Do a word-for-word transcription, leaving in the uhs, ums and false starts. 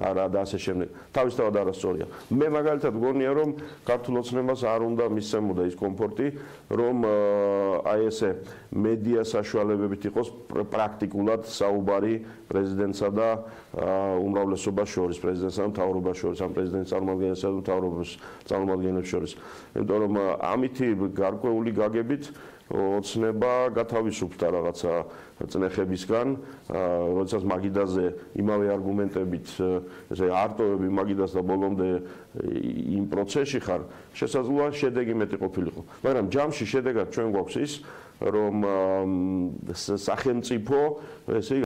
არა და ასე შემდეგ. თავისთავად არასწორია. მე მაგალითად გონია რომ ქართულ ოცნებას არ უნდა მისცემოდა ის კომფორტი, რომ აი ესე მედია საშუალებებით იყოს პრაქტიკულად საუბარი პრეზიდენტსა და უმრავლესობას შორის, პრეზიდენტსა და მთავრობას შორის, ამ პრეზიდენტის წარმომადგენელსა და მთავრობის წარმომადგენლებს შორის. იმიტომ რომ ამითი გარკვეული გაგებით ოცნება გათავისუფლდა რაღაცა წნეხებისგან, როდესაც მაგიდაზე იმავე არგუმენტებით ესე არტოვები მაგიდას და ბოლომდე იმ პროცესში ხარ, შესაძლოა შედეგი მეტი ყოფილიყო. მაგრამ ჯამში შედეგად ჩვენ გვაქვს ის, რომ სახელმწიფო ესე